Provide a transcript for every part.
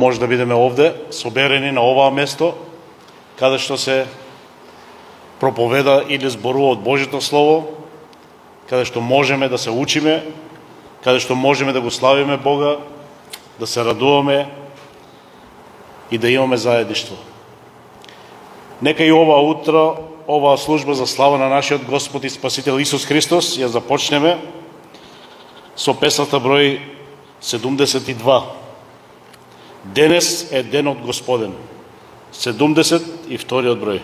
може да бидеме овде, соберени на оваа место, каде што се проповеда или зборува од Божјото Слово, каде што можеме да се учиме, каде што можеме да го славиме Бога, да се радуваме и да имаме заедништво. Нека и ова утро, оваа служба за слава на нашиот Господ и Спасител Исус Христос ја започнеме со песната број 72. Денес е денот Господен. 72 број.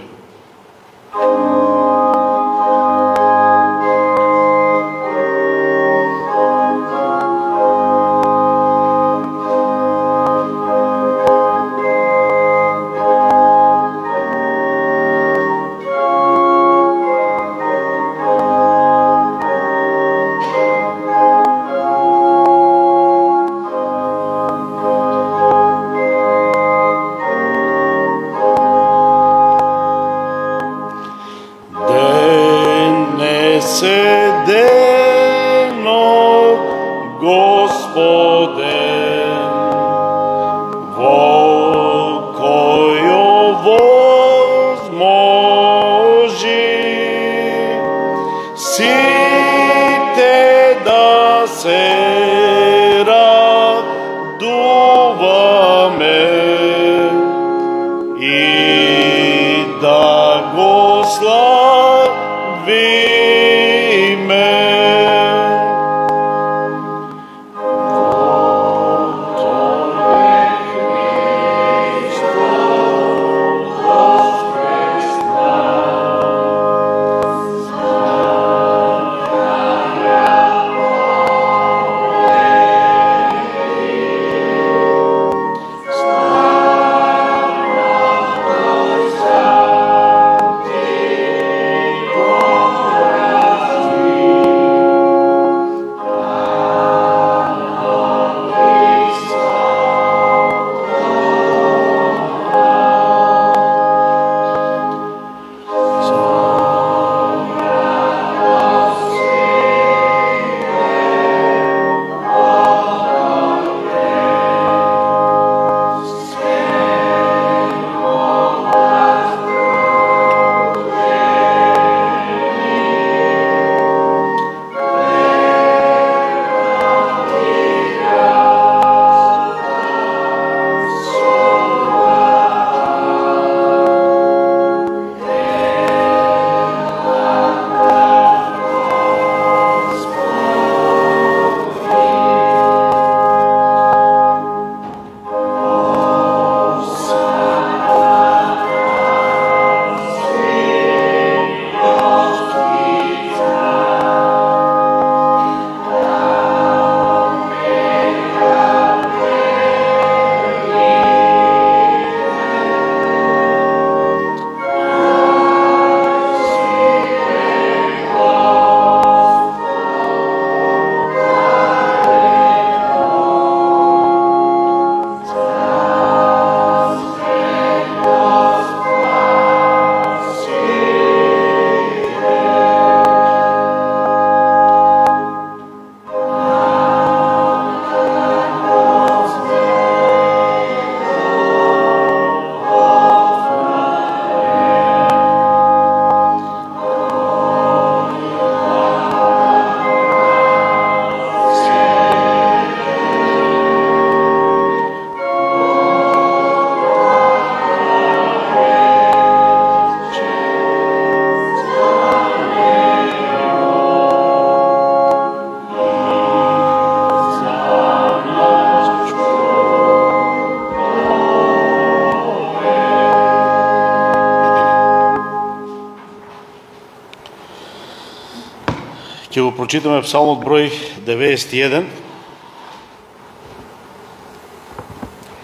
Ќе го прочитаме Псалмот број 91.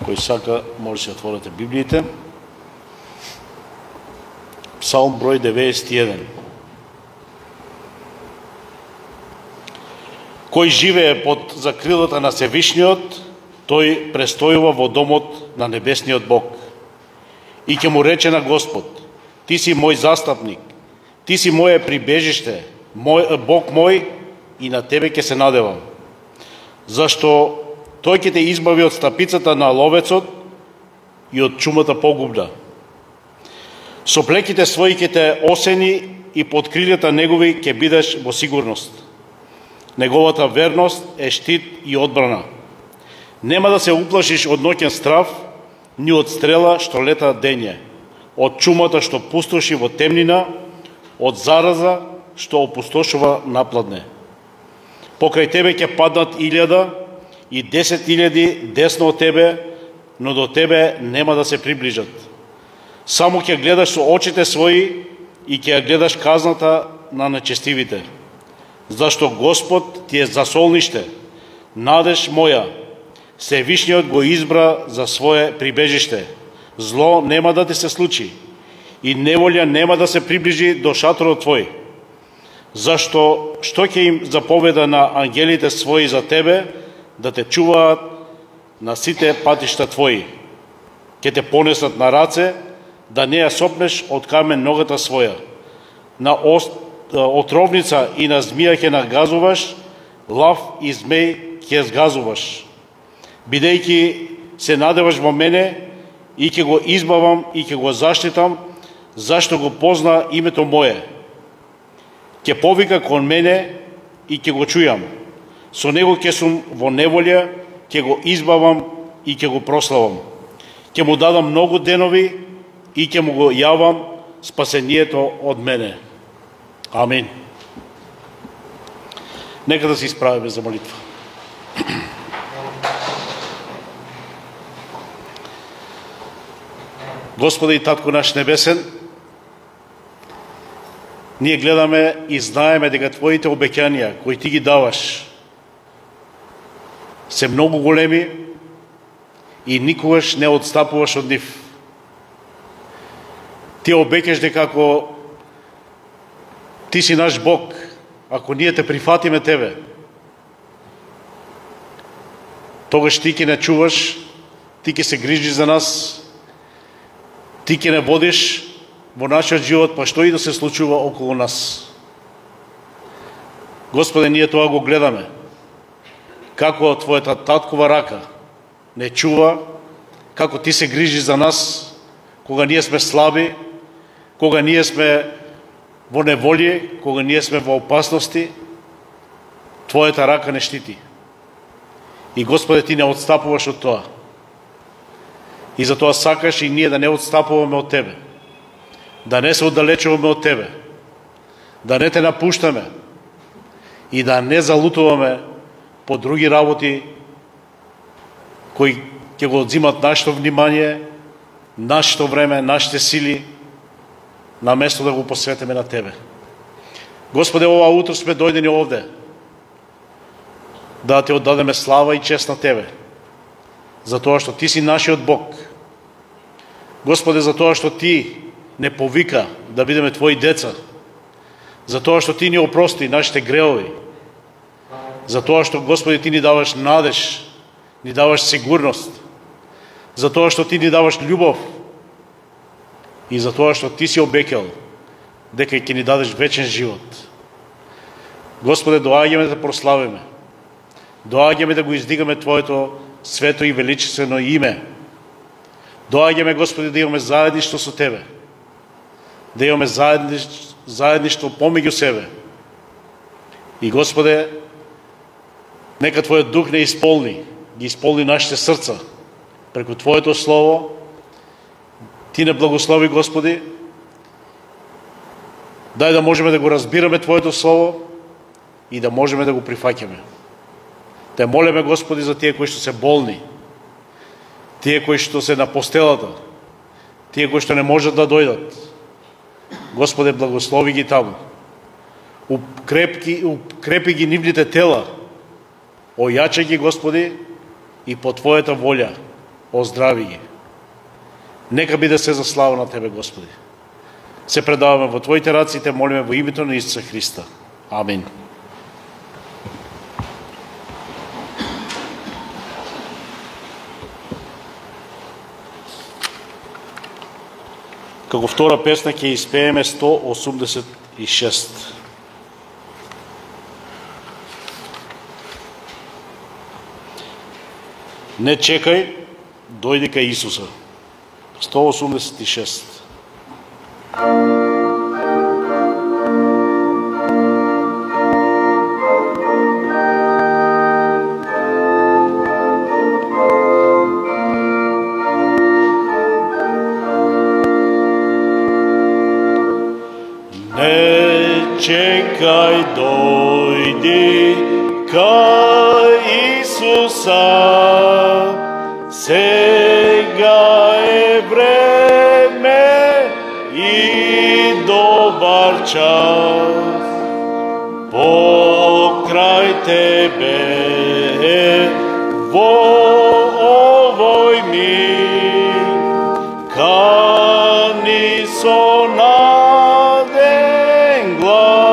Кој сака, може да отворите Библиите. Псалм број 91. Кој живее под закрилата на Севишниот, тој престојува во домот на небесниот Бог. И ќе му рече на Господ: Ти си мој застапник, ти си моје прибежиште, Бог мој, и на тебе ќе се надевам. Зашто тој ќе те избави од стапицата на ловецот и од чумата погубна. Со плеките своји ќе те осени и под крилјата негови ќе бидеш во сигурност. Неговата верност е штит и одбрана. Нема да се уплашиш од ноќен страв, ни од стрела што лета дење, од чумата што пустоши во темнина, од зараза што опустошува напладне. Покрај тебе ќе паднат 1000 и 10.000 десно од тебе, но до тебе нема да се приближат. Само ќе гледаш со очите своји и ќе гледаш казната на нечестивите. Зашто Господ ти е засолниште, надеж моја, Севишниот го избра за свое прибежиште. Зло нема да ти се случи и неволја нема да се приближи до шаторот твој. Зашто што ќе им заповеда на ангелите своји за тебе, да те чуваат на сите патишта твои. Ќе те понесат на раце, да не ја сопнеш од камен ногата своја. На отровница и на змија ќе нагазуваш, лав и змеј ќе згазуваш. Бидејќи се надеваш во мене, и ќе го избавам и ќе го заштитам, зашто го позна името мое. Ќе повика кон мене и ќе го чујам. Со него ќе сум во неволја, ќе го избавам и ќе го прославам. Ќе му дадам многу денови и ќе му го јавам спасението од мене. Амин. Нека да се исправиме за молитва. Господи и Татко наш небесен, ние гледаме и знаеме дека Твоите обеќања кои Ти ги даваш се многу големи и никогаш не отстапуваш од нив. Ти обеќаш дека ако Ти си наш Бог, ако ние те прифатиме Тебе, тогаш Ти ќе не чуваш, Ти ќе се грижиш за нас, Ти ќе не водиш во нашиот живот, па што и да се случува околу нас. Господе, ние тоа го гледаме. Како Твојата таткова рака не чува, како Ти се грижи за нас, кога ние сме слаби, кога ние сме во неволие, кога ние сме во опасности, Твојата рака не штити. И Господе, Ти не отстапуваш од тоа. И затоа сакаш и ние да не отстапуваме од Тебе, да не се оддалечуваме од Тебе, да не Те напуштаме и да не залутуваме по други работи кои ќе го одзимат нашето внимание, нашето време, нашите сили, на место да го посветиме на Тебе. Господе, ова утро сме дојдени овде да Те оддадеме слава и чест на Тебе, затоа што Ти си нашиот Бог. Господе, затоа што Ти не повика да бидеме Твои деца, затоа што Ти ни опрости нашите греови, затоа што, Господи, Ти ни даваш надеж, ни даваш сигурност, затоа што Ти ни даваш љубов и затоа што Ти си обекал дека ќе ни дадеш вечен живот. Господе, доаѓаме да прославиме, доаѓаме да го издигаме Твоето свето и величествено име. Доаѓаме, Господи, да имаме заедништво со Тебе, да имаме заедништво помеѓу себе. И, Господе, нека Твојот дух не ги исполни нашите срца преку Твоето слово. Ти не благослови, Господи, дај да можеме да го разбираме Твоето слово и да можеме да го прифаќаме. Те молиме, Господи, за тие кои што се болни, тие кои што се на постелата, тие кои што не можат да дојдат. Господе, благослови ги таму. Укрепи ги нивните тела. Ојачај ги, Господи, и по Твојата волја оздрави ги. Нека биде се за слава на Тебе, Господи. Се предаваме во Твоите раци и Те молиме во името на Исуса Христа. Амин. Како втора песна ќе испееме 186. Не чекај, дојди кај Исуса. 186. Čekaj, doјди кај Исуса, сега е време и добар час. Покрај тебе во овој миг, кани со наден глас.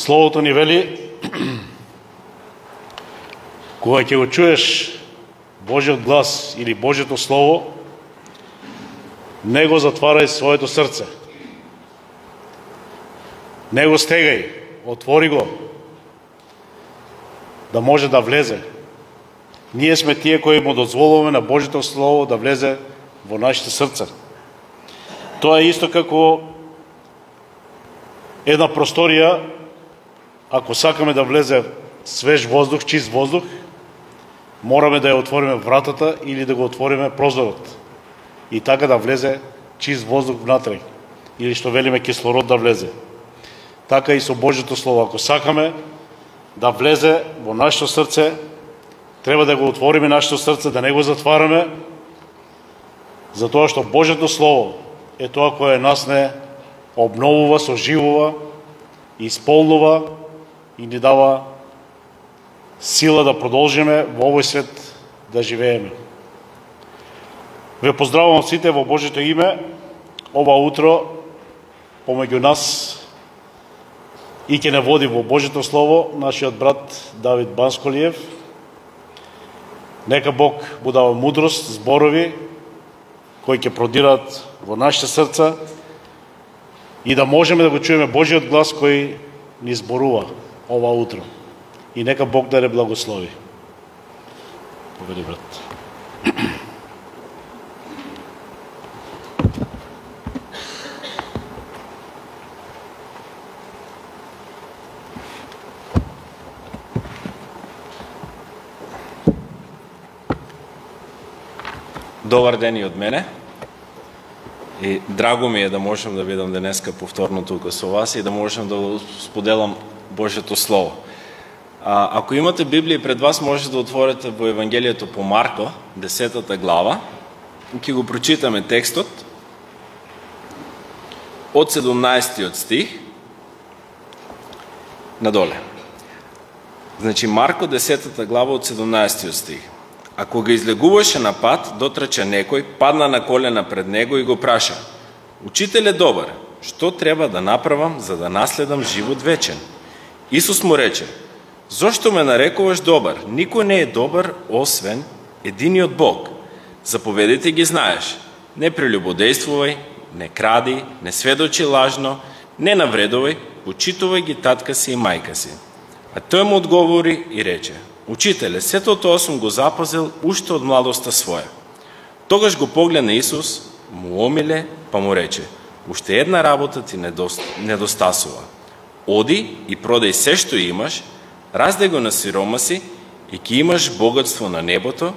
Словото ни вели, кога ќе го чуеш Божиот глас или Божиото Слово, не го затварај своето срце. Не го стегај, отвори го, да може да влезе. Ние сме тие кои му дозволуваме на Божиото Слово да влезе во нашите срца. Тоа е исто како една просторија, ако сакаме да влезе свеж воздух, чист воздух, мораме да ја отвориме вратата или да го отвориме прозорот. И така да влезе чист воздух внатре. Или што велиме кислород да влезе. Така и со Божјото Слово. Ако сакаме да влезе во нашето срце, треба да го отвориме нашето срце, да не го затвараме, затоа што Божјото Слово е тоа кое нас не обновува, соживува, исполнува и ни дава сила да продолжиме во овој свет да живееме. Ве поздравувам сите во Божјето име. Ова утро помеѓу нас и ќе не води во Божјето Слово нашиот брат Давид Бансколиев. Нека Бог му дава мудрост, зборови кои ќе продират во нашите срца и да можеме да го чуеме Божјиот глас кој ни зборува ова утро. И нека Бог да не благослови. Повели, брат. Добар ден и од мене. И драго ми е да можам да бидам денеска повторно тука со вас и да можам да споделам Божјето Слово. Ако имате Библија пред вас, може да отворите во Евангелието по Марко, 10 глава. Ќе го прочитаме текстот од 17 стих надоле. Значи Марко 10 глава од 17 стих. А кога излегуваше на пат, дотрча некој, падна на колена пред него и го праша: Учителе добар, што треба да направам за да наследам живот вечен? Исус му рече: Зошто ме нарекуваш добар? Никој не е добар освен единиот Бог. Заповедите ги знаеш: не прелюбодействувај, не кради, не сведочи лажно, не навредувај, почитувај ги татка си и мајка си. А тој му одговори и рече: Учителе, сето тоа сум го запазил уште од младоста своја. Тогаш го погледна Исус, му омиле, па му рече: Уште една работа ти недостасува. Оди и продај се што имаш, раздај го на сиромаси и ќе имаш богатство на небото,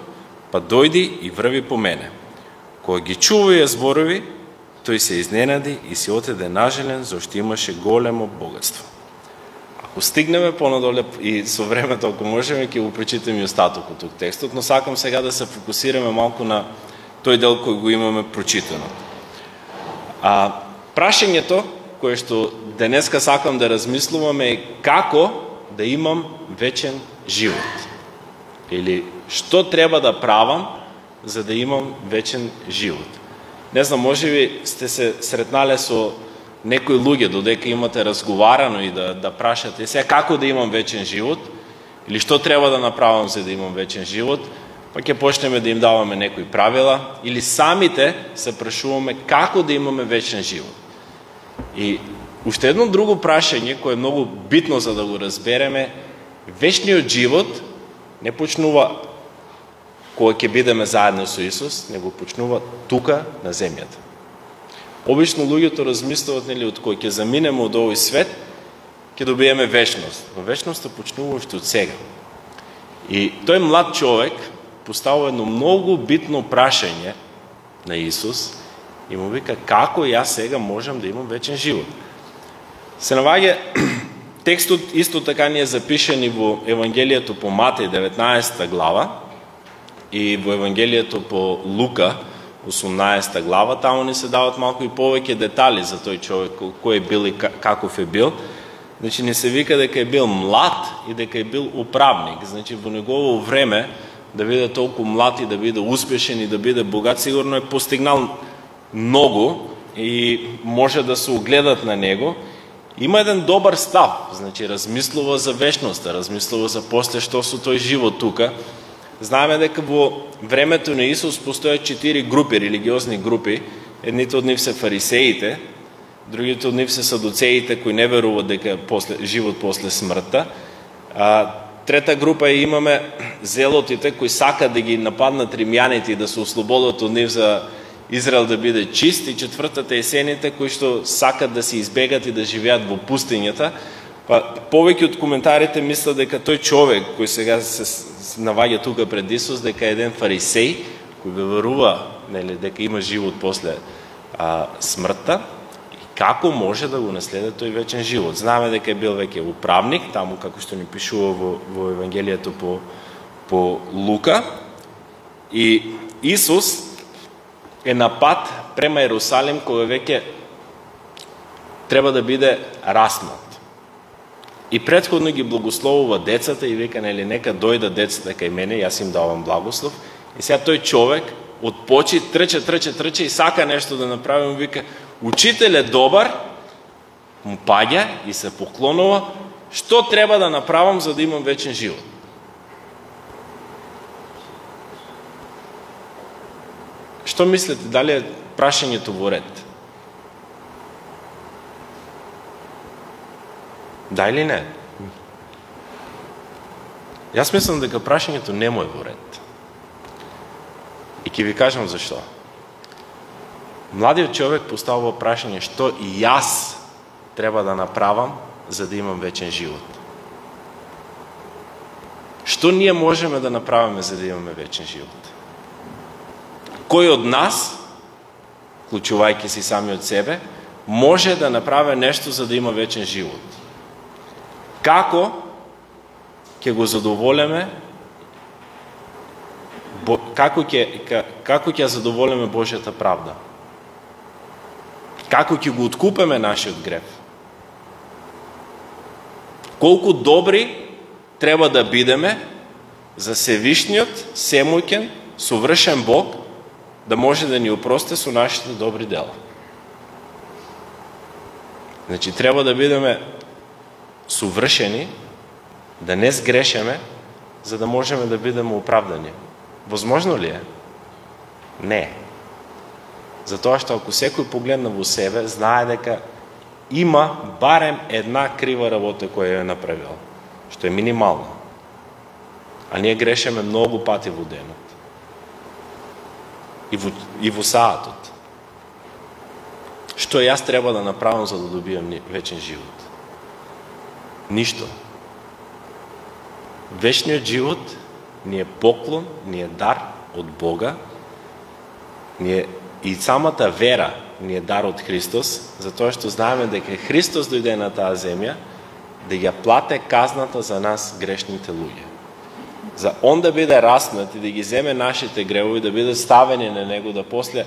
па дојди и врви по мене. Кога ги чува ја зборови, тој се изненади и се отеде нажелен, зашто имаше големо богатство. Ако стигнеме понадоле и со времето, ако можеме, ќе го прочитаме и остатокот тук текстот, но сакам сега да се фокусираме малку на тој дел кој го имаме прочитано. Прашањето кое што денеска сакам да размислуваме е како да имам вечен живот. Или што треба да правам за да имам вечен живот. Не знам, можеби сте се сретнале со некои луѓе додека имате разговарано и да прашате сега како да имам вечен живот или што треба да направам за да имам вечен живот, па ќе почнеме да им даваме некои правила или самите се прашуваме како да имаме вечен живот. И уште едно друго прашање кое е многу битно за да го разбереме: вечниот живот не почнува кога ќе бидеме заедно со Исус, него почнува тука на земјата. Обично луѓето размислуваат, нели, од кој ќе заминеме од овој свет, ќе добиеме вечност. Но вечноста почнува уште од сега. И тој млад човек поставува едно многу битно прашање на Исус и му вика: како јас сега можам да имам вечен живот? Се наоѓа текстот исто така ни е запишен и во Евангелието по Матеј 19 глава и во Евангелието по Лука 18 глава. Таму ни се дават малку и повеќе детали за тој човек, кој е бил и каков е бил. Значи не се вика дека е бил млад и дека е бил управник. Значи во негово време да биде толку млад и да биде успешен и да биде богат, сигурно е постигнал многу и може да се огледат на него. Има еден добар став, значи размислува за вечноста, размислува за после што со тој живот тука. Знаеме дека во времето на Исус постојат 4 групи, религиозни групи. Едните од нив се фарисеите, другите од нив се садуцеите кои не веруваат дека живот после смртта. Трета група имаме зелотите кои сакаат да ги нападнат римјаните и да се ослободат од нив за Израел да биде чист, и четвртата е сените кои што сакат да се избегат и да живеат во пустињата. Повеќе од коментарите мислат дека тој човек кој сега се наваѓа тука пред Исус дека е еден фарисеј кој верува, нели, дека има живот после смртта и како може да го наследи тој вечен живот. Знаеме дека е бил веќе управник, таму како што ни пишува во Евангелието по Лука, и Исус е на пат према Ерусалим кога веќе треба да биде распнат. И претходно ги благословува децата и вика, нели, нека дојдат децата кај мене, јас им давам благослов. И сега тој човек од почит, трче и сака нешто да направи, му вика, учител е добар, му паѓа и се поклонува, што треба да направам за да имам вечен живот? Што мислите, дали е прашањето во ред? Да или не? Јас мислам дека прашањето не му е во ред. И ќе ви кажам зашто. Младиот човек поставува прашање што и јас треба да направам за да имам вечен живот. Што ние можеме да направиме за да имаме вечен живот? Кој од нас, вклучувајќи си сами од себе, може да направи нешто за да има вечен живот? Како ќе го задоволиме, како ќе задоволиме Божјата правда? Како ќе го откупиме нашиот грев? Колку добри треба да бидеме за Севишниот, семоќен, совршен Бог да може да ни опрости со нашите добри дела? Значи, треба да бидеме совршени, да не сгрешеме, за да можеме да бидеме оправдани. Возможно ли е? Не. Затоа што ако секој погледна во себе, знае дека има барем една крива работа која ја е направил, што е минимална. А ние грешеме многу пати во денот. И во саатот. Што јас треба да направам за да добијам вечен живот? Ништо. Вечниот живот ни е поклон, ни е дар од Бога, и самата вера ни е дар од Христос, затоа што знаеме дека Христос дојде на таа земја да ја плате казната за нас грешните луѓе. За он да биде распнат и да ги земе нашите гревови, да биде ставени на него, да после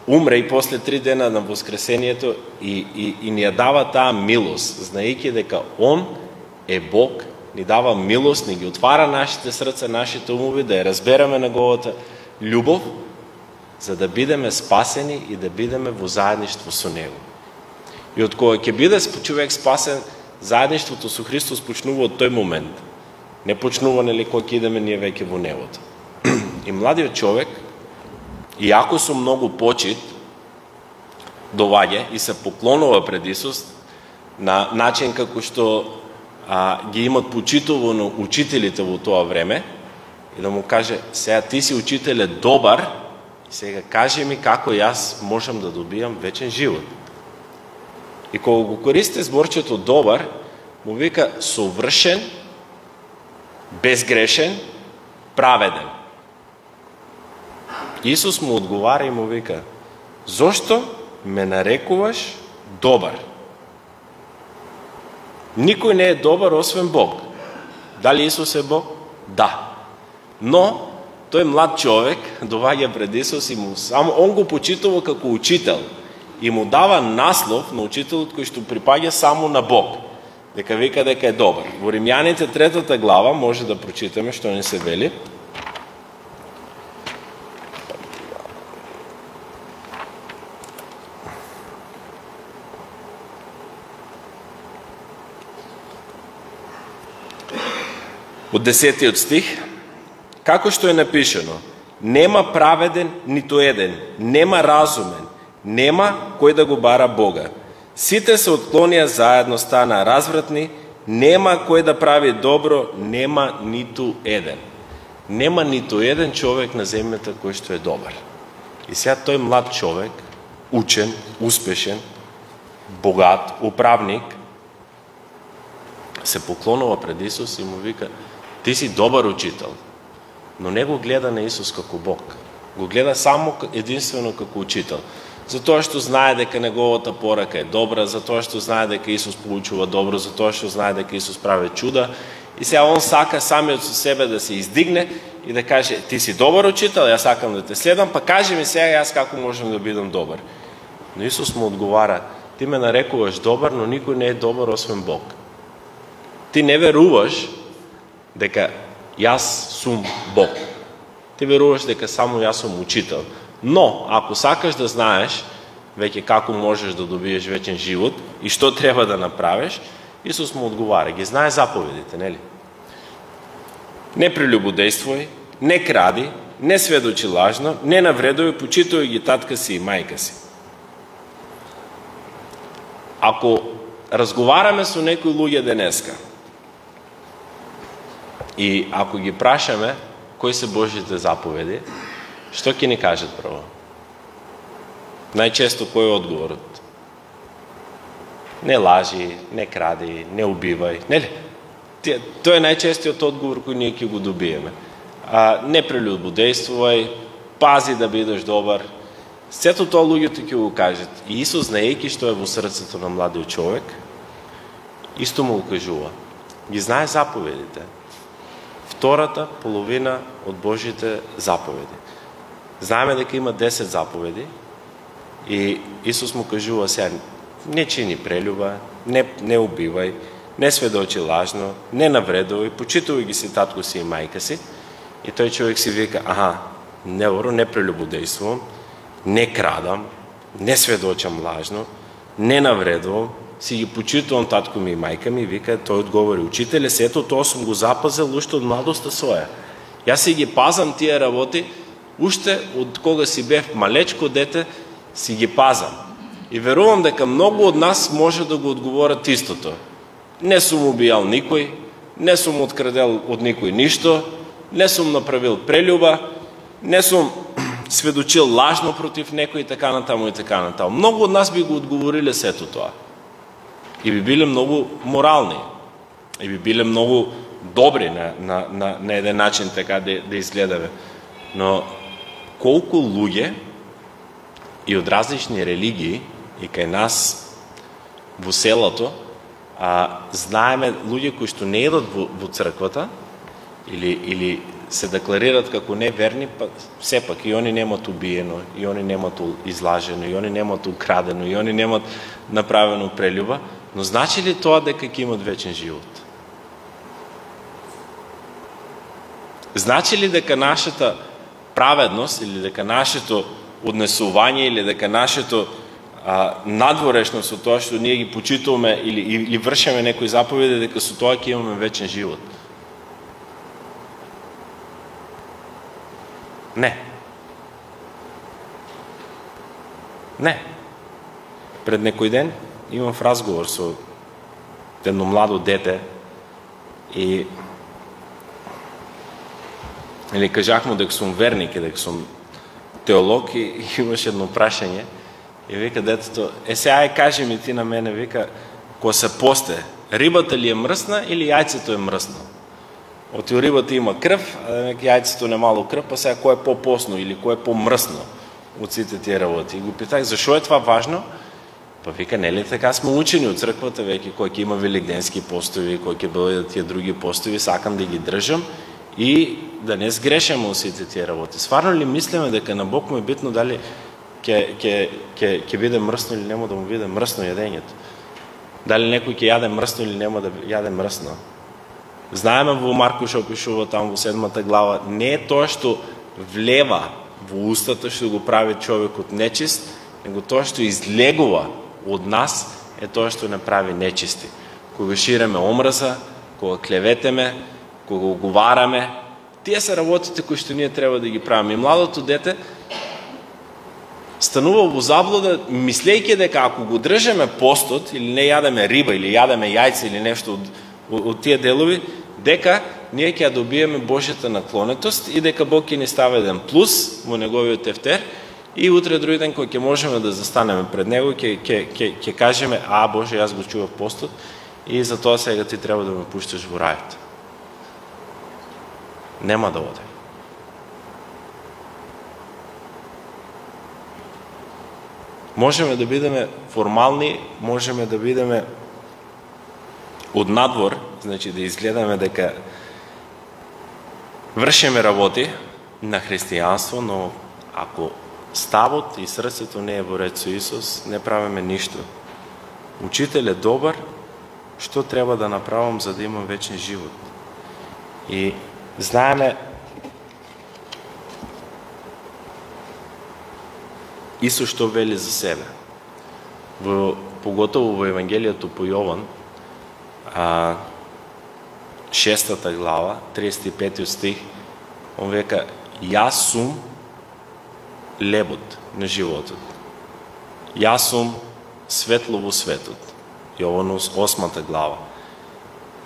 умре и после 3 дена на воскресението и ни ја дава таа милост, знаејќи дека он е Бог, ни дава милост, ни ги отвара нашите срца, нашите умови, да ја разбереме неговата љубов, за да бидеме спасени и да бидеме во заедништво со него. И од кога ќе биде човек спасен, заедништвото со Христос почнува од тој момент. Не почнува, нели, кога ќе идеме ние веќе во небото. И младиот човек, иако со многу почит, доаѓа и се поклонува пред Исус на начин како што ги имат почитувано учителите во тоа време, и да му каже, сега ти си учителе добар, сега кажи ми како јас можам да добијам вечен живот. И кога го користи зборчето добар, му вика совршен, безгрешен, праведен. Исус му одговара и му вика, зошто ме нарекуваш добар? Никој не е добар освен Бог. Дали Исус е Бог? Да. Но тој млад човек доаѓа пред Исус и само он го почитува како учител и му дава наслов на учителот кој што припаѓа само на Бог. Дека вика дека е добар. Во Римјаните 3 глава може да прочитаме што ни се вели. Од 10 стих, како што е напишано, нема праведен ниту еден, нема разумен, нема кој да го бара Бога. Сите се отклонија заедно, стана развратни, нема кој да прави добро, нема ниту еден. Нема ниту еден човек на земјата кој што е добар. И сега тој млад човек, учен, успешен, богат, управник, се поклонува пред Исус и му вика, ти си добар учител, но не го гледа на Исус како Бог. Го гледа само единствено како учител. Затоа што знае дека неговата порака е добра, затоа што знае дека Исус получува добро, затоа што знае дека Исус прави чуда. И сега он сака самиот со себе да се издигне и да каже, ти си добар учител, јас сакам да те следам, па кажи ми сега јас како можам да бидам добар. Но Исус му одговара, ти ме нарекуваш добар, но никој не е добар освен Бог. Ти не веруваш дека јас сум Бог. ти веруваш дека само јас сум учител. Но, ако сакаш да знаеш веќе како можеш да добиеш вечен живот и што треба да направиш, Исус му одговара, ги знае заповедите, нели? Не прелюбодействувај, не кради, не сведочи лажно, не навредувај, почитувај ги татка си и мајка си. Ако разговараме со некои луѓе денеска и ако ги прашаме кои се Божите заповеди, што ќе ни кажат прво? Најчесто кој е одговорот? Не лажи, не кради, не убивај, нели? Тоа е најчестиот одговор кој ние ќе го добиеме. Не прелюбодействувај, пази да бидеш добар. Сето тоа луѓето ќе го кажат. И Исус, знаејќи што е во срцето на младиот човек, исто му го кажува. Ги знае заповедите. Втората половина од Божите заповеди. Знаеме дека има 10 заповеди и Исус му кажува сега, не чини прелюба, не убивај, не сведочи лажно, не навредувај, почитувај ги си татко си и мајка си. И тој човек си вика, не прелюбодействувам, не крадам, не сведочам лажно, не навредувам, си ги почитувам татко ми и мајка ми, вика, тој одговори, учителе, сето тоа сум го запазил уште од младоста своја. Јас си ги пазам тие работи, уште од кога си бев малечко дете, си ги пазам. И верувам дека многу од нас може да го одговорат истото. Не сум убијал никој, не сум открадел од никој ништо, не сум направил прелюба, не сум сведочил лажно против некој и така натаму и така натаму. Многу од нас би го одговориле сето тоа. И би биле многу морални. И би биле многу добри на еден начин така да изгледаме. Но колку луѓе и од различни религии и кај нас во селото знаеме луѓе кои што не едат во црквата или се декларират како неверни, па сепак и они немат убиено, и они немат излажено, и они немат украдено, и они немат направено прелюба, но значи ли тоа дека ќе имат вечен живот? Значи ли дека нашата праведност или дека нашето однесување или дека нашето надворешно со тоа што ние ги почитуваме или вршиме некои заповеди, дека со тоа ќе имаме вечен живот? Не. Не. Пред некој ден имав разговор со едно младо дете и или кажахме дека сум верник и дека сум теолог и имаше едно прашање и вика детето, сега кажи ми ти на мене, вика, кога се посте, рибата ли е мръсна или јајцето е мръсно? Оти рибата има крв, а јајцето немало крв, па сега кој е по-посно или кој е по-мръсно од сите тие работи. И го питах, зашо е това важно? Па вика, нели така сме учени од црквата, веќе кој ќе има великденски постови, кој ќе бидат тие други постови, сакам да ги држам и да не сгрешаме од сите тие работи. Стварно ли мислиме дека на Бог му е битно дали ќе биде мръсно или нема да му биде мръсно јадењето? Дали некој ќе јаде мръсно или нема да јаде мръсно? Знаеме во Марко што пишува таму во 7 глава, не е тоа што влева во устата што го прави човекот нечист, него тоа што излегува од нас е тоа што не прави нечисти. Кога ширеме омраза, кога клеветеме, кога уговараме, тие се работите кои што ние треба да ги правиме. И младото дете станува во заблуда, мислејќи дека ако го држеме постот, или не јадеме риба, или јадеме јајца, или нешто од тие делови, дека ние ќе добиеме Божјата наклонетост и дека Бог ќе ни стави еден плюс во неговиот тефтер и утре други ден кој ќе можеме да застанеме пред него, ќе кажеме, Боже, јас го чував постот и за тоа сега ти треба да ме пушташ во рајот. Нема да оде. Можеме да бидеме формални, можеме да бидеме од надвор, значи да изгледаме дека вршиме работи на христијанство, но ако ставот и срцето не е во ред со Исус, не правиме ништо. Учител е добар, што треба да направам за да имам вечен живот? И знаеме Исус што вели за себе? Поготово во Евангелието по Јован, 6 глава, 35 стих, он века: јас сум лебот на животот. Јас сум светло во светот. Јован 8 глава.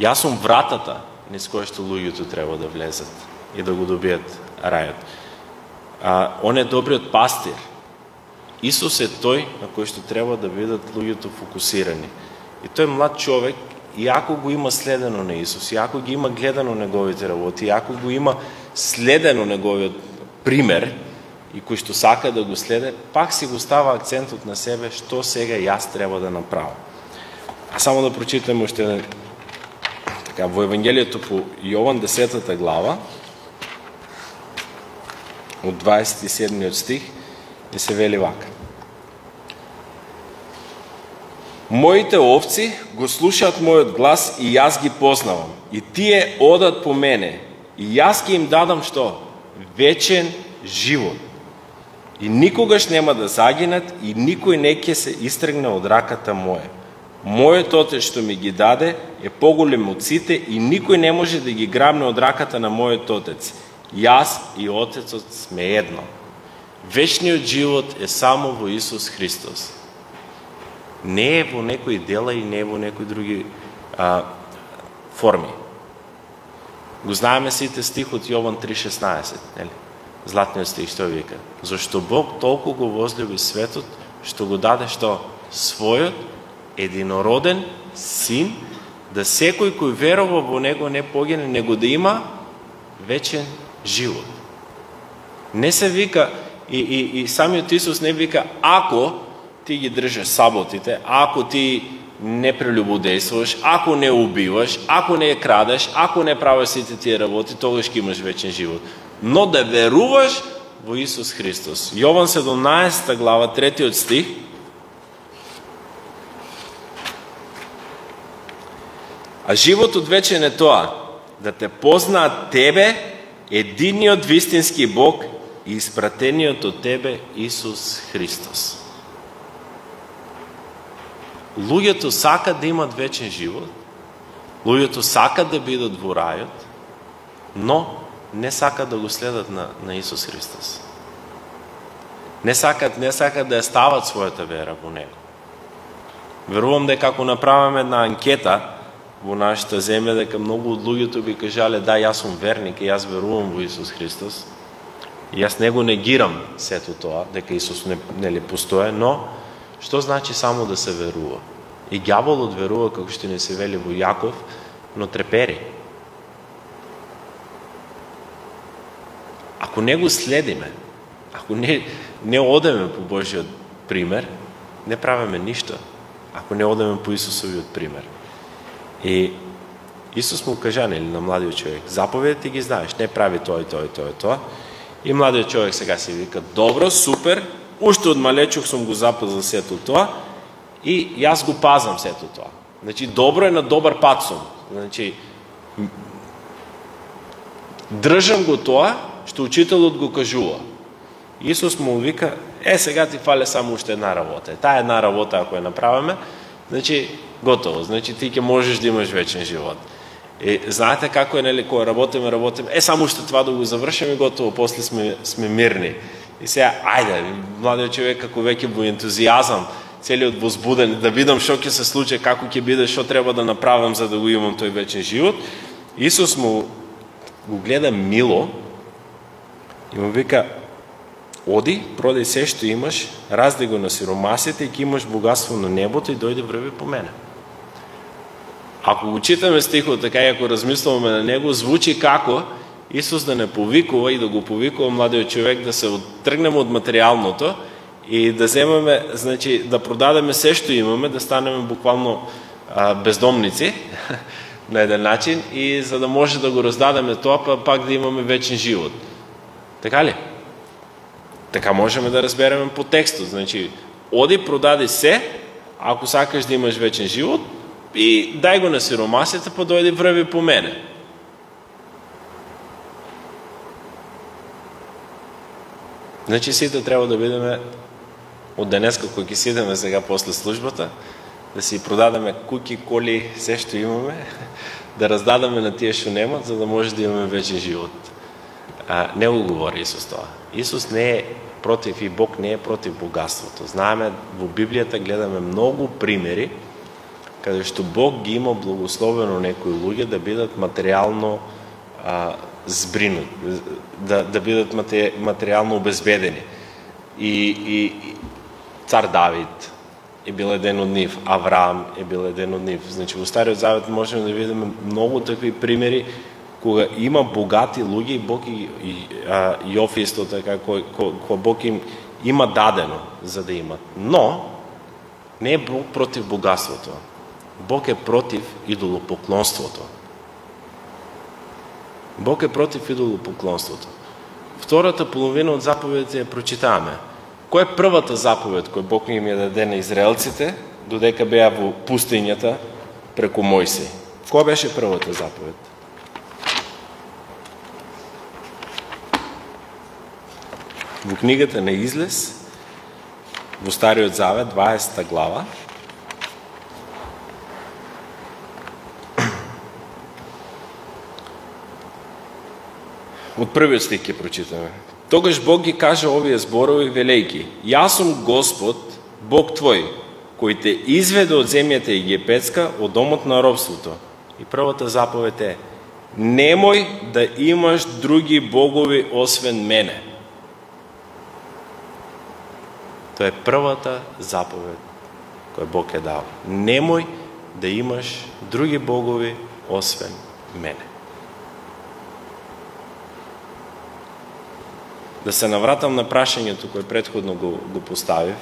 Јас сум вратата низ која што луѓето треба да влезат и да го добият рајот. Он е добриот пастир. Исус е тој на кој што треба да бидат луѓето фокусирани. И тој млад човек, иако го има следено на Исус, иако ги има гледано неговите работи, иако го има следено неговиот пример и кој што сака да го следе, пак си го става акцентот на себе што сега јас треба да направам. А само да прочитаме уште така во Евангелието по Јован 10 глава од 27 стих и се вели вака: Моите овци го слушаат мојот глас и јас ги познавам, и тие одат по мене, и јас ќе им дадам што? Вечен живот. И никогаш нема да загинат, и никој не ќе се истргне од раката моја. Мојот Отец што ми ги даде е поголем од сите, и никој не може да ги грабне од раката на мојот Отец. Јас и Отецот сме едно. Вечниот живот е само во Исус Христос. Не е во некои дела и не е во некои други форми. Го знаеме сите стих од Јован 3:16, нели? Златниот стих што вика: Зашто Бог толку го возлюби светот, што го даде што? Својот единороден син, да секој кој верува во него не погине, него да има вечен живот. Не се вика, и самиот Исус не вика: ако ти ги држиш саботите, ако ти не прелюбодействуваш, ако не убиваш, ако не крадеш, ако не правиш сите тие работи, тогаш ќе имаш вечен живот. Но да веруваш во Исус Христос. Јован 17 глава, 3 стих. А животот вечен е тоа, да те познаат тебе, единиот вистински Бог, и испратениот од тебе Исус Христос. Луѓето сакат да имат вечен живот, луѓето сакат да бидат во рајот, но не сакат да го следат на Исус Христос. Не сакат да ја стават својата вера во Него. Верувам дека ако направиме една анкета во нашата земја, дека многу од луѓето би кажале: да, јас сум верник и јас верувам во Исус Христос. И јас не го негирам сето тоа, дека Исус нели постоje, но што значи само да се верува? И ѓаволот верува, како што ни се вели во Јаков, но трепери. Ако не го следиме, ако не одеме по Божиот пример, не правиме ништо. Ако не одеме по Исусовиот пример. И Исус му кажа, нели, на младиот човек: заповедите ги знаеш, не прави тоа и тоа и тоа и тоа. И младиот човек сега си вика: добро, супер, уште од малечок сум го запазил сето тоа и јас го пазам сето тоа. Значи, добро е, на добар пат сум. Значи, држам го тоа што учителот го кажува. Исус му вика: сега ти фале само уште една работа. Таа една работа, ако ја направиме, значи, готово. Значи, ти ќе можеш да имаш вечен живот. И знаете како е, нели, кога работиме, само уште това да го завршиме и готово, после сме мирни. И сега, ајде, младиот човек како веќе во ентузијазам, целиот возбуден, да видам што ќе се случи, како ќе биде, што треба да направам за да го имам тој вечен живот. Исус му го гледа мило и му вика: оди, продај се што имаш, раздај го на сиромасите и ќе имаш богатство на небото и дојди врви по мене. Ако го читаме стихот така и ако размислуваме на него, звучи како Исус да не повикува и да го повикува младиот човек да се оттргнеме од материјалното и да земеме, значи да продадеме се што имаме, да станеме буквално бездомници на еден начин, и за да може да го раздадеме тоа, пак да имаме вечен живот. Така ли? Така можеме да разбереме по текстот. Значи, оди, продади се, ако сакаш да имаш вечен живот, и дај го на сиромасите, па дојди врви по мене. Значи, сите треба да бидеме од денеска кој ќе седеме сега после службата, да си продадеме куки, коли, се што имаме, да раздадеме на тие што немат, за да може да имаме вечен живот. Не го говори Исус тоа. Исус не е против и Бог не е против богатството. Знаеме, во Библијата гледаме многу примери каде што Бог ги има благословено некои луѓе да бидат материјално збринут, да бидат материјално обезбедени. И цар Давид е бил еден од нив, Авраам е бил еден од нив. Значи, во Стариот Завет можеме да видиме многу такви примери кога има богати луѓе и Бог и Јов исто така, кој Бог им има дадено за да имат. Но, не е Бог против богатството. Бог е против идолопоклонството. Бог е против идолопоклонството. Втората половина од заповедите ја прочитаваме. Која е првата заповед која Бог им ја даде на израелците, додека беа во пустињата преку Мојсей? Која беше првата заповед? Во книгата на Излез, во Стариот Завет, 20 глава, од првиот стих ќе прочитаме. Тогаш Бог ги каже овие зборови велејки: Јас сум Господ, Бог твој, кој те изведе од земјата египетска, од домот на робството. И првата заповед е: немој да имаш други богови освен мене. Тоа е првата заповед која Бог е дал. Немој да имаш други богови освен мене. Да се навратам на прашањето кој претходно го поставив,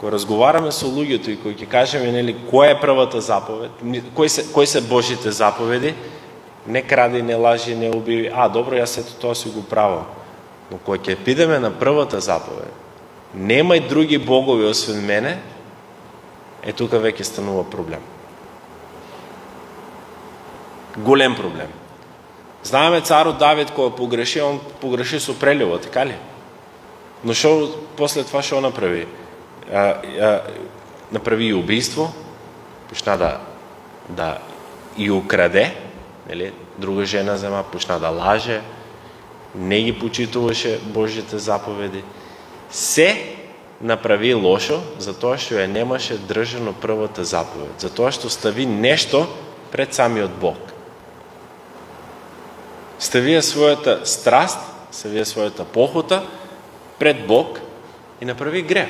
кој разговараме со луѓето и кој ќе кажеме, нели, која е првата заповед, кои се Божите заповеди, не кради, не лажи, не убиви. Добро, јас ето тоа си го правам. Но кој ќе пидеме на првата заповед, немај други богови освен мене, тука веќе станува проблем. Голем проблем. Знаеме царот Давид кога погреши, он погреши со прелюбов, така ли? Но после това шо направи? Направи и убийство, почна да и украде, нели? Друга жена зема, почна да лаже, не ги почитуваше Божите заповеди. Се направи лошо, затоа што ја немаше држано првата заповед, затоа што стави нешто пред самиот Бог. Ставија својата страст, ставија својата похота пред Бог и направи грех.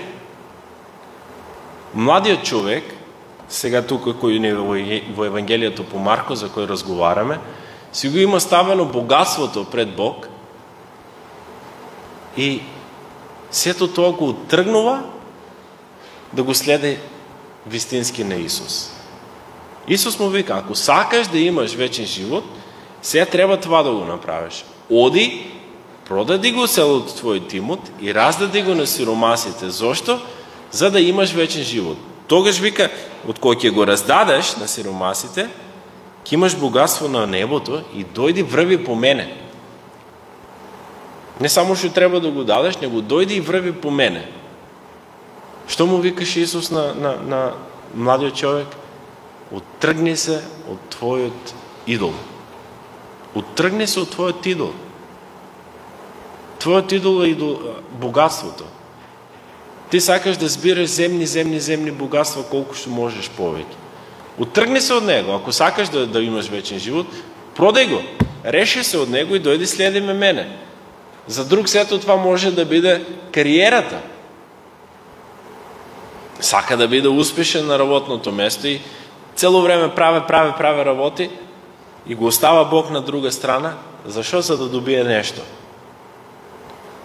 Младиот човек, сега тука кој не во Евангелието по Марко, за кој разговараме, си го има ставено богатството пред Бог и сето тоа го отргнува да го следи вистински на Исус. Исус му вика: ако сакаш да имаш вечен живот, сега треба това да го направиш. Оди, продади го селото твојот имот и раздади го на сиромасите. Зошто? За да имаш вечен живот. Тогаш вика, од кој ќе го раздадеш на сиромасите, ќе имаш богатство на небото и дојди врви по мене. Не само што треба да го дадеш, него дојди и врви по мене. Што му викаше Исус на младиот човек? Оттргни се од твојот идол. Оттргни се од твојот идол. Твојот идол е богатството. Ти сакаш да збираш земни богатства колку што можеш повеќе. Оттргни се од него. Ако сакаш да имаш вечен живот, продај го. Реши се од него и дојди следи ме мене. За друг сето това може да биде кариерата. Сака да биде успешен на работното место и цело време прави работи и го остава Бог на друга страна. Зашо? За да добие нешто.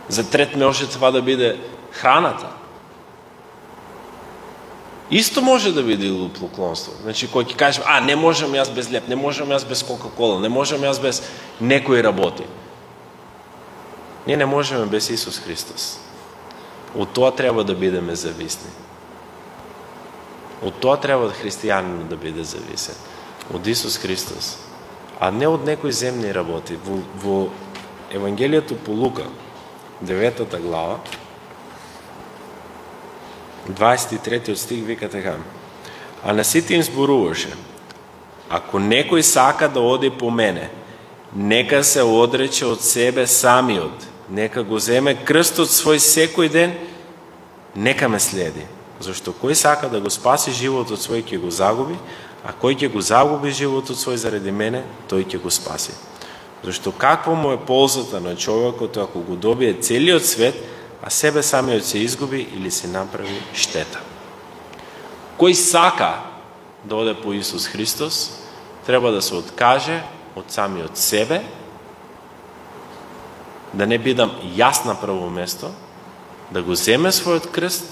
За трет може това да биде храната. Исто може да биде идолопоклонство. Значи, кој ќе каже: не можам јас без леп, не можам јас без Кока-кола, не можам јас без некои работи. Ние не можеме без Исус Христос. Од тоа треба да бидеме зависни. Од тоа треба христијанинот да биде зависен. Од Исус Христос. А не од некои земни работи. Во Евангелието по Лука, 9 глава, 23 стих вика така: а на сите им зборуваше: ако некој сака да оди по мене, нека се одрече од себе самиот, нека го земе крстот свој секој ден, нека ме следи. Зашто кој сака да го спаси животот свој ќе го загуби, а кој ќе го загуби животот свој заради мене, тој ќе го спаси. Зашто каква му е ползата на човекот ако го добие целиот свет, а себе самиот се изгуби или се направи штета? Кој сака да оде по Исус Христос, треба да се откаже од самиот себе, да не бидам јас на прво место, да го земе својот крст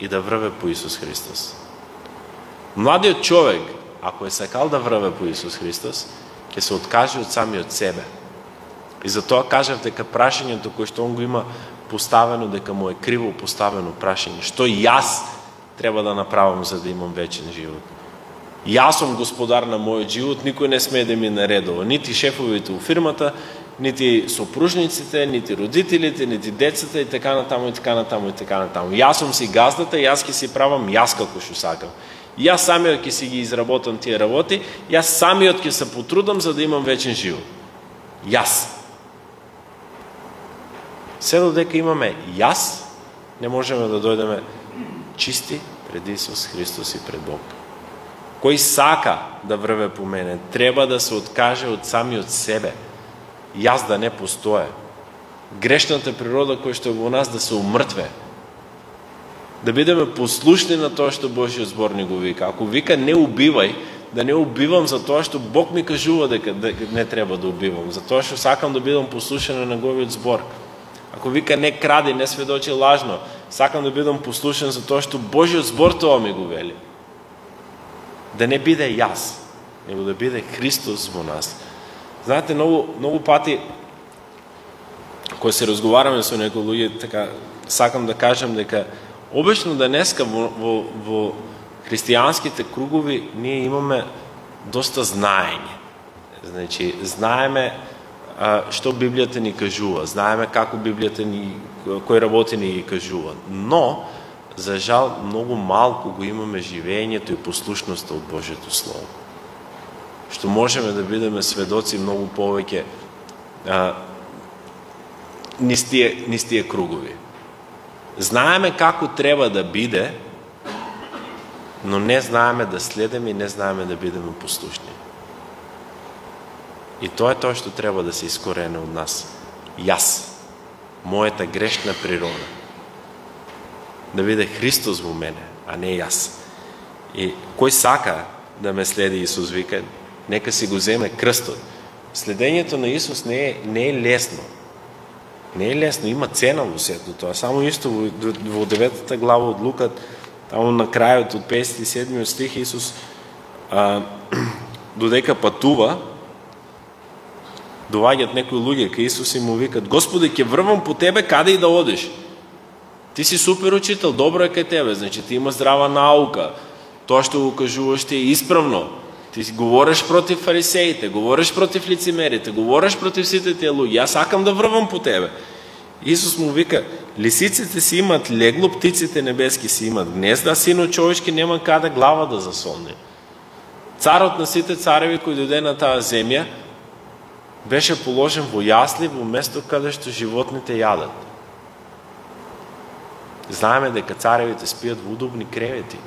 и да врве по Исус Христос. Младиот човек, ако е сакал да врве по Исус Христос, ќе се откаже од самиот себе. И затоа кажав дека прашањето кој што он го има поставено, дека му е криво поставено прашање: што јас треба да направам за да имам вечен живот? Јас сум господар на мојот живот, никој не смее да ми наредува, нити шефовите у фирмата, нити сопружниците, нити родителите, нити децата и така натаму и така натаму и така натаму. Јас сум си газдата, јас ќе си правам јас како што сакам. Јас самиот ќе си ги изработам тие работи, јас самиот ќе се потрудам за да имам вечен живот. Јас. Се додека имаме јас, не можеме да дојдеме чисти пред Исус Христос и пред Бог. Кој сака да врве по мене, треба да се откаже од самиот себе. Јас да не постоje. Грешната природа која што е во нас да се умртве. Да бидеме послушни на тоа што Божиот збор ни го вика. Ако вика не убивај, да не убивам за тоа што Бог ми кажува дека не треба да убивам, за тоа што сакам да бидам послушен на неговиот збор. Ако вика не кради, не сведочи лажно, сакам да бидам послушен за тоа што Божиот збор тоа ми го вели. Да не биде јас, него да биде Христос во нас. Знаете, многу пати кога се разговараме со некои луѓе, така сакам да кажам дека обично денеска во христијанските кругови ние имаме доста знаење. Значи, знаеме што Библијата ни кажува, знаеме како Библијата ни, кои работи ни ги кажува. Но, за жал, многу малку го имаме живењето и послушноста од Божјето Слово. Што можеме да бидеме сведоци многу повеќе низ тие кругови. Знаеме како треба да биде, но не знаеме да следеме и не знаеме да бидеме послушни. И тоа е тоа што треба да се искорене од нас. Јас, мојата грешна природа. Да биде Христос во мене, а не јас. И кој сака да ме следи, Исус вика, нека си го земе крстот. Следењето на Исус не е лесно. Не е лесно, има цена во сето тоа. Само исто во 9 глава од Лука, таму на крајот од 57 стих, Исус додека патува, доаѓаат некои луѓе кај Исус и му викат: Господи, ќе врвам по тебе каде и да одиш. Ти си супер учител, добро е кај тебе, значи ти има здрава наука. Тоа што го кажуваш ти е исправно. Ти говориш против фарисеите, говориш против лицемерите, говориш против сите тие луѓе. Јас сакам да врвам по тебе. Исус му вика: лисиците си имат легло, птиците небески си имат гнезда, синот човечки нема каде глава да засолне. Царот на сите цареви кој дојде на таа земја беше положен во јасли, во место каде што животните јадат. Знаеме дека царевите спијат во удобни кревети,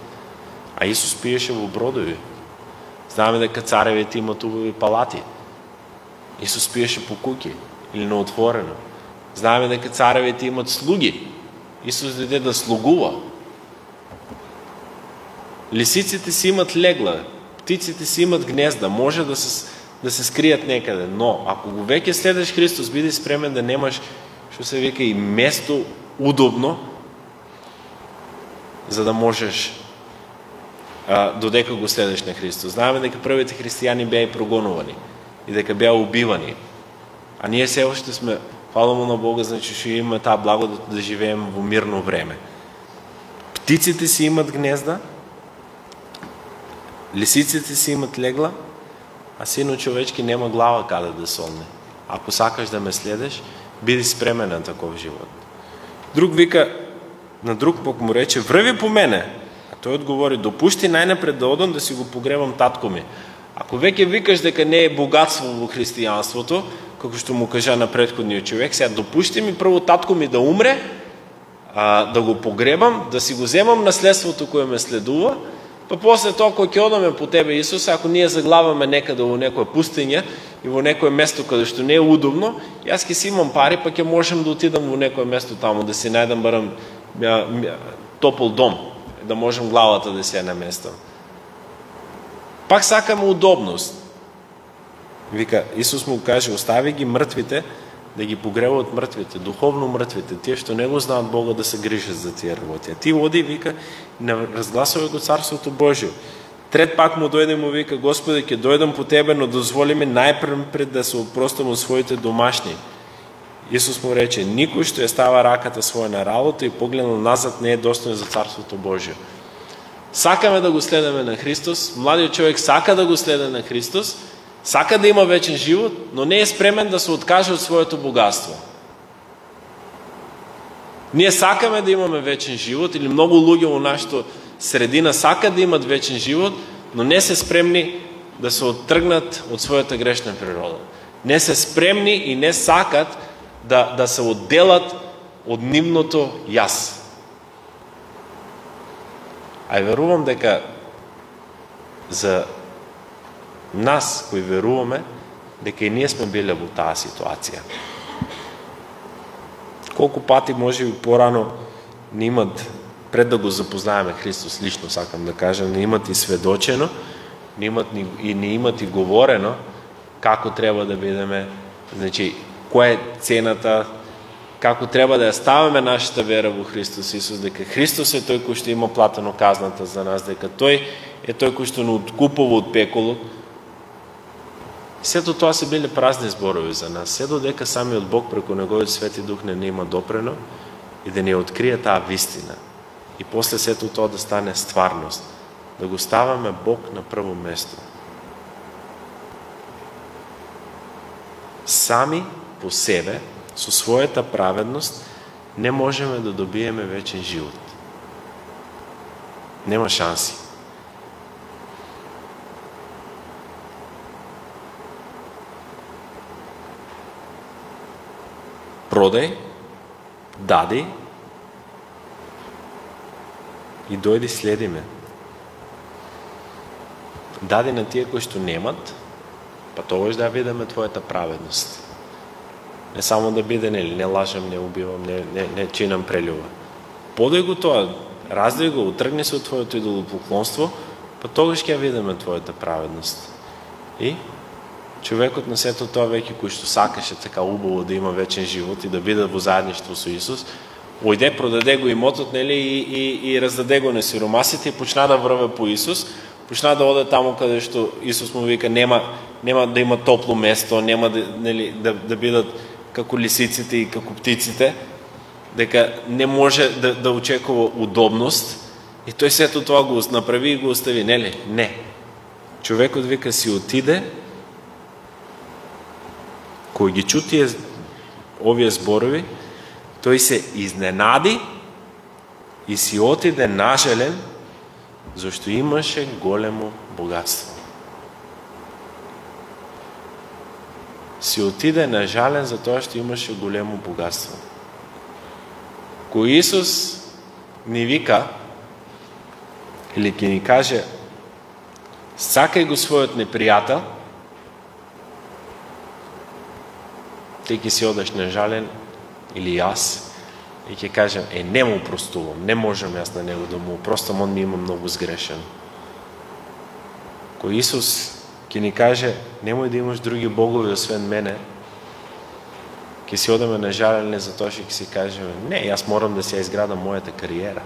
а Исус пиеше во бродови. Знаеме дека царевите имат убави палати. Исус пиеше по куќи или на отворено. Знаеме дека царевите имат слуги. Исус дојде да слугува. Лисиците си имат легла, птиците си имат гнезда, може да се скријат некаде, но ако го веќе следеш Христос, биди спремен да немаш, што се вика, и место удобно, за да можеш додека го следеш на Христос. Знаеме дека првите христијани беа прогонувани и дека беа убивани. А ние се уште сме, фала му на Бога, значи што имаме таа благодат да живееме во мирно време. Птиците си имат гнезда, лисиците си имат легла, а синот човечки нема глава каде да солне. Ако сакаш да ме следеш, биди спремен на таков живот. Друг вика: на друг пак му рече: врви по мене. А тој одговори: допушти најнапред да одам да си го погребам татко ми. Ако веќе викаш дека не е богатство во христијанството, како што му кажа на претходниот човек, сега допушти ми прво татко ми да умре, да го погребам, да си го земам наследството кое ме следува, па после тоа кога ќе одаме по тебе, Исус, ако ние заглаваме некаде во некоја пустиња и во некое место каде што не е удобно, јас ќе си имам пари, па ќе можам да отидам во некое место таму, да си најдам барам топол дом, да можам главата да си ја наместам. Пак сакаме удобност. Вика, Исус му каже: остави ги мртвите да ги погребаат мртвите, духовно мртвите, тие што не го знаат Бога, да се грижат за тие работи. А ти оди, вика, не разгласувай го Царството Божие. Трет пак му дојде, му вика: Господи, ќе дојдам по тебе, но дозволи ми најпред да се опростам од своите домашни. Исус му рече: никој што ја става раката своја на работа и погледнал назад не е достоен за Царството Божие. Сакаме да го следаме на Христос, младиот човек сака да го следе на Христос, сака да има вечен живот, но не е спремен да се откаже од своето богатство. Ние сакаме да имаме вечен живот, или многу луѓе во нашата средина сакат да имат вечен живот, но не се спремни да се оттргнат од својата грешна природа. Не се спремни и не сакат да се одделат од нивното јас. А верувам дека за нас кои веруваме дека и ние сме биле во таа ситуација. Колку пати може би порано не имат, пред да го запознаеме Христос лично, сакам да кажам, не имат и сведочено, не имат и говорено како треба да бидеме, значи која е цената, како треба да ја ставаме нашата вера во Христос Исус, дека Христос е тој кој што има платено казната за нас, дека тој е тој кој што не откупува од пеколот. Сето тоа се биле празни зборови за нас, се додека самиот Бог преку Неговиот Свети Дух не има допрено и да не открие таа вистина. И после сето тоа да стане стварност, да го ставаме Бог на прво место. Сами по себе, со својата праведност, не можеме да добиеме вечен живот. Нема шанси. Продај, дади и дојди следи ме. Дади на тие кои што немат, па тогаш да видиме твојата праведност. Не само да биде, не лажам, не убивам, не чинам прелюба. Подај го тоа, раздај го, утргни се од твоето идолопоклонство, па тогаш ќе видиме твојата праведност. И човекот на сето тоа веќе кој што сакаше така убаво да има вечен живот и да биде во заедништво со Исус, ојде, продаде го имотот, нели, и раздаде го на сиромасите и почна да врве по Исус, почна да оде таму каде што Исус му вика нема да има топло место, нема да бидат како лисиците и како птиците, дека не може да очекува удобност, и тој сето тоа го направи и го остави, нели? Не. Човекот вика си отиде, кој ги чути овие зборови, тој се изненади и си отиде нажален, зашто имаше големо богатство. Си отиде нажален за тоа што имаше големо богатство. Кој Исус ни вика, или ќе ни каже, сакај го својот непријател, ти ќе си одеш нажален, или јас, и ќе кажем, не му простувам, не можам јас на него да му простам, он ми има многу сгрешен. Кој Исус ќе ни каже, немој да имаш други богови освен мене, ќе си одеме нажалени за тоа што ќе си кажеме, не, јас морам да си ја изградам мојата кариера.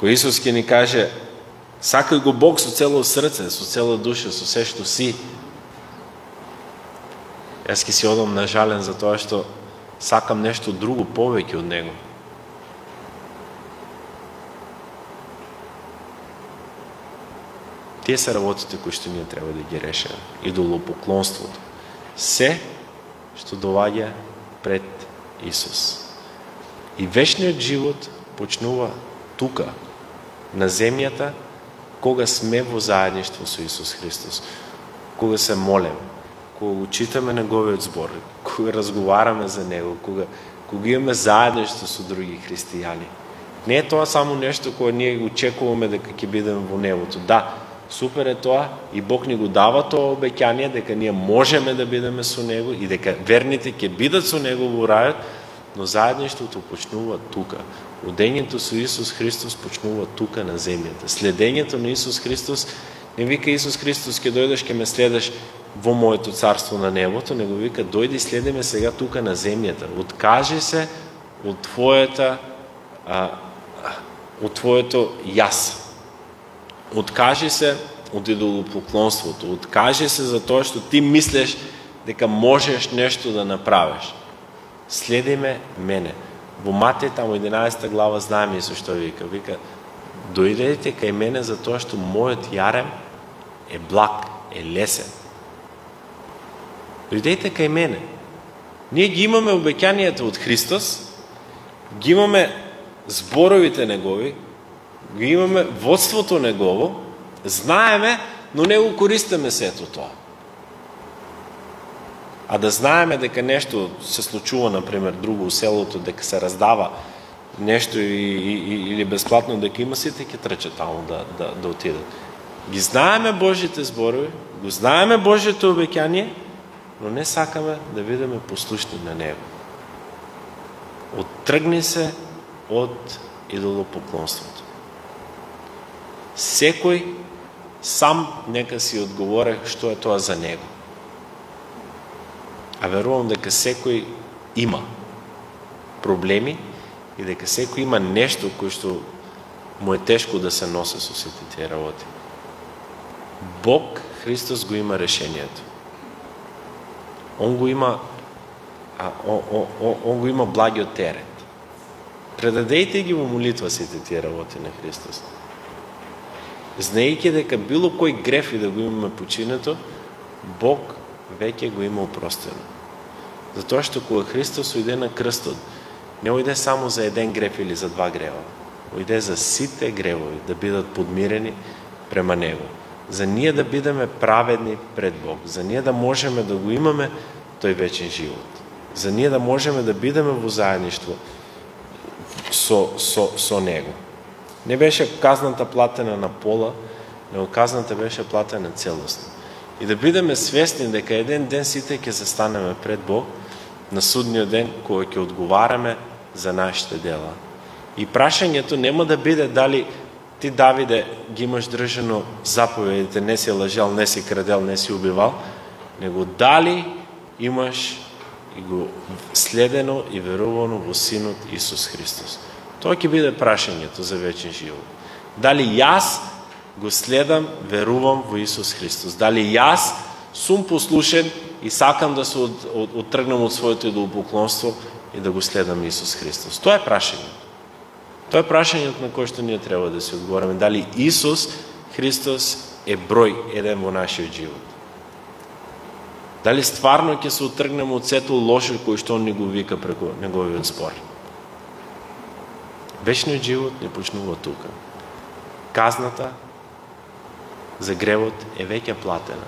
Кој Исус ќе ни каже, сакај го Бог со цело срце, со цела душа, со се што си, јас ќе си одам нажален за тоа што сакам нешто друго повеќе од него. Тие се работите кои што ние треба да ги решиме. Идолопоклонството. Се што доаѓа пред Исус. И вечниот живот почнува тука, на земјата, кога сме во заедништво со Исус Христос, кога се молеме, кога го читаме неговиот збор, кога разговараме за него, кога имаме заедништво со други христијани. Не е тоа само нешто кое ние очекуваме дека ќе бидеме во небото. Да, супер е тоа и Бог ни го дава тоа обеќание дека ние можеме да бидеме со него и дека верните ќе бидат со него во рајот, но заедништвото почнува тука. Одењето со Исус Христос почнува тука на земјата. Следењето на Исус Христос не вика Исус Христос ќе дојдеш, ќе ме следеш во моето царство на небото, него вика дојди и следиме сега тука на земјата. Откажи се од твоето јас. Откажи се од идолопоклонството. Откажи се за тоа што ти мислиш дека можеш нешто да направиш. Следиме мене. Во Матеј, тамо 11 глава, знаеме Исус што вика. Вика, дојдете кај мене за тоа што мојот јарем е благ, е лесен. Дојдете кај мене. Ние ги имаме обеќанието од Христос, ги имаме зборовите негови, ги имаме водството негово, знаеме, но не го користиме сето тоа. А да знаеме дека нешто се случува, например, друго у селото, дека се раздава нешто или бесплатно, дека има, сите ќе трчат таму да отидат. Ги знаеме Божите зборови, го знаеме Божите обеќание, но не сакаме да бидеме послушни на него. Оттргни се од идолопоклонството. Секој сам нека си одговори што е тоа за него. А верувам дека секој има проблеми и дека секој има нешто кој што му е тешко да се носи со сите тие работи. Бог, Христос, го има решението. Он го има благиот терет. Предадејте ги во молитва сите тие работи на Христос. Знаејќи дека било кој греф и да го имаме починето, Бог веќе го има опростено. Затоа што кога Христос ојде на крстот, не ојде само за еден греф или за два грева. Ојде за сите гревови да бидат подмирени према Него. За ние да бидеме праведни пред Бог. За ние да можеме да го имаме тој вечен живот. За ние да можеме да бидеме во заедништво со Него. Не беше казната платена на пола, но казната беше платена целосно. И да бидеме свесни дека еден ден сите ќе застанеме пред Бог на судниот ден кога ќе одговараме за нашите дела. И прашањето нема да биде дали ти, Давиде, ги имаш држано заповедите, не си лажал, не си крадел, не си убивал, него дали имаш и го следено и верувано во Синот Исус Христос. Тоа ќе биде прашањето за вечен живот. Дали јас го следам, верувам во Исус Христос? Дали јас сум послушен и сакам да се оттргнам од своето идолопоклонство и да го следам Исус Христос? Тоа е прашањето. Тоа е прашањето на кое што ние треба да се одговориме. Дали Исус Христос е број еден во нашиот живот? Дали стварно ќе се оттргнеме од сето лошо кој што Он ни го вика преку неговиот збор? Вечниот живот не почнува тука. Казната за гревот е веќе платена.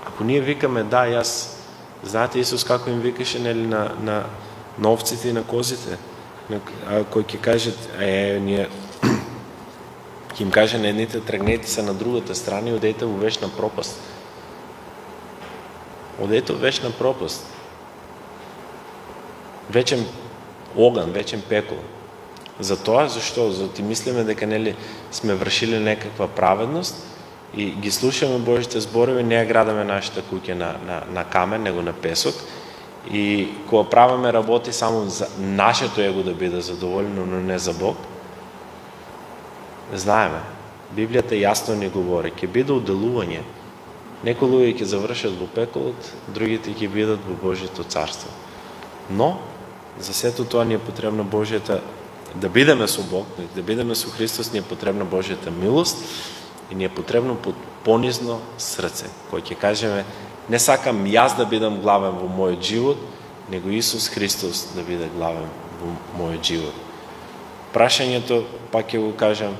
Ако ние викаме да, јас, знаете Исус како им викаше нели на овците и на козите, кој ќе кажат, ние ќе им каже на едните, тргнете се на другата страна и одете во вечна пропаст. Одете во вечна пропаст. Вечен оган, вечен пекол. Затоа, зашто? За ти мислиме дека нели сме вршили некаква праведност и ги слушаме Божите зборови, не ја градаме нашата куќа на камен, него на песок. И кога правиме работи само за нашето его да биде задоволено, но не за Бог, знаеме, Библијата јасно ни говори, ќе биде уделување. Некои луѓе ќе завршат во пеколот, другите ќе бидат во Божјето царство. Но за сето тоа ни е потребна Божјата, да бидеме со Бог, да бидеме со Христос, ни е потребна Божјата милост и ни е потребно понизно срце, кој ќе кажеме, не сакам јас да бидам главен во мојот живот, него Исус Христос да биде главен во мојот живот. Прашањето, пак ќе го кажам,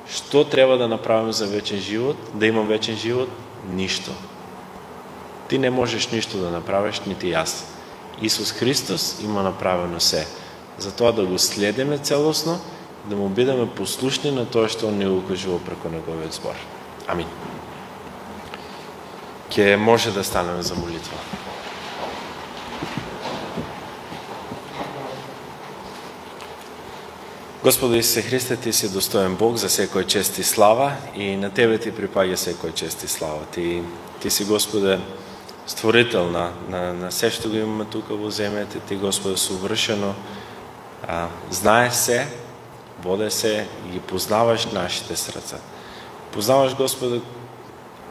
што треба да направим за вечен живот, да имам вечен живот? Ништо. Ти не можеш ништо да направиш, нити јас. Исус Христос има направено се. Затоа да го следиме целосно, да му бидеме послушни на тоа што Он ни го кажува преку неговиот збор. Амин. Ке може да станеме за молитва. Господи Исусе Христе, Ти си достоен Бог за секој чест и слава и на Тебе Ти припаѓа секој чест и слава. Ти си, Господе, створител на се што го имаме тука во земјата. Ти, Господе, совршено знаеш се, воде се и ги познаваш нашите срца. Познаваш, Господе,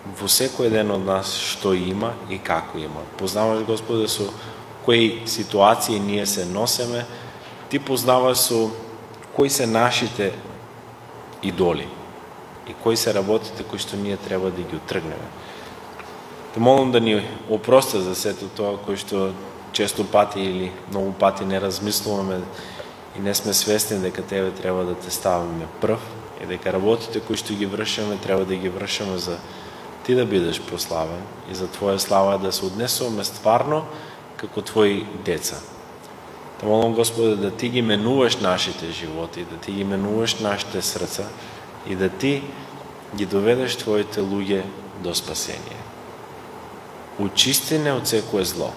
во секој ден од нас што има и како има. Познаваш, Господе, со кои ситуации ние се носеме. Ти познаваш со кои се нашите идоли и кои се работите кои што ние треба да ги отргнеме. Те молам да ни опрости за сето тоа кои што често пати или многу пати не размислуваме и не сме свесни дека Тебе треба да те ставиме прв и дека работите кои што ги вршиме треба да ги вршиме за Ти да бидеш прославен и за Твоја слава да се однесуваме стварно како Твои деца. Те молам, Господе, да Ти ги менуваш нашите животи, да Ти ги менуваш нашите срца и да Ти ги доведеш Твоите луѓе до спасение. Очисти не од секое зло,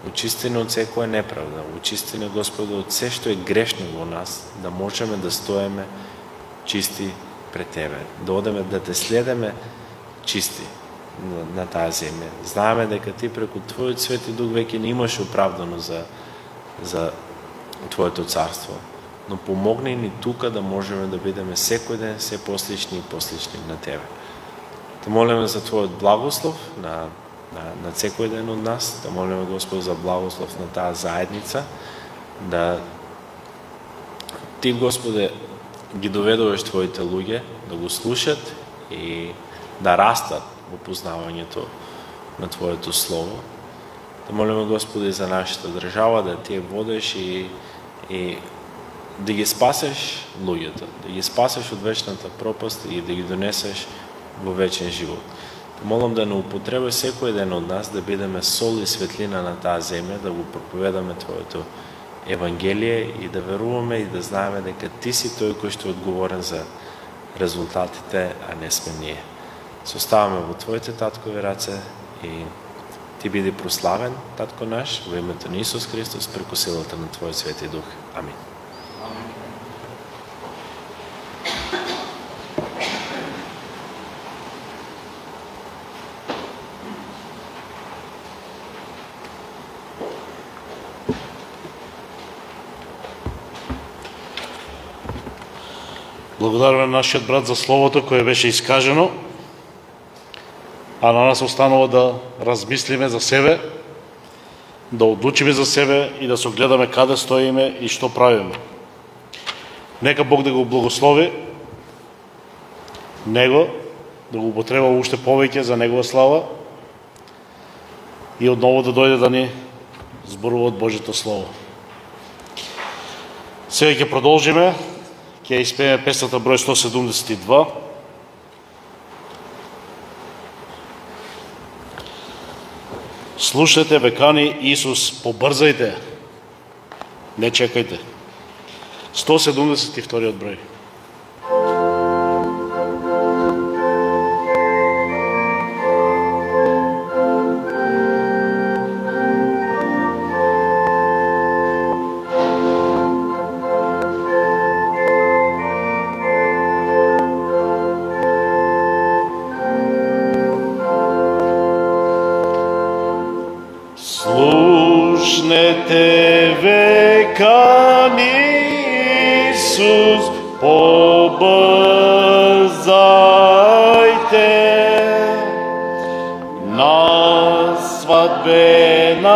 очисти не од секоја неправда, очисти не, Господе, од се што е грешно во нас, да можеме да стоеме чисти пред Тебе, да одеме, да Те следеме чисти на таа земја. Знаеме дека Ти преку Твојот Свети Дух веќе не имаш оправдано за Твоето царство, но помогни ни тука да можеме да бидеме секој ден се послични и послични на Тебе. Те молиме за Твојот благослов на секој ден од нас, да молиме, Господ, за благослов на таа заедница, да Ти, Господе, ги доведуваш Твоите луѓе да го слушат и да растат во познавањето на Твоето Слово. Да молиме, Господи, за нашата држава, да Ти ја водиш и да ги спасеш луѓето, да ги спасеш од вечната пропаст и да ги донесеш во вечен живот. Да молам да не употребаш секој ден од нас да бидеме сол и светлина на таа земја, да го проповедаме Твоето Евангелие и да веруваме и да знаеме дека Ти си тој кој што е одговорен за резултатите, а не сме ние. Се оставаме во Твоите таткови раце и Ти биди прославен, Татко наш, во името на Исус Христос, преку силата на Твојот Свети Дух. Амин. Благодараме на нашиот брат за словото кое беше искажено, а на нас останува да размислиме за себе, да одлучиме за себе и да се огледаме каде стоиме и што правиме. Нека Бог да го благослови, него, да го употреба уште повеќе за негова слава и одново да дојде да ни зборува од Божјото Слово. Сега ќе продолжиме, ќе испееме песната број 172. Слушайте, векани Исус, побрзајте, не чекајте. 172 број. Слушнете, векани Исус, побрзајте на свадбената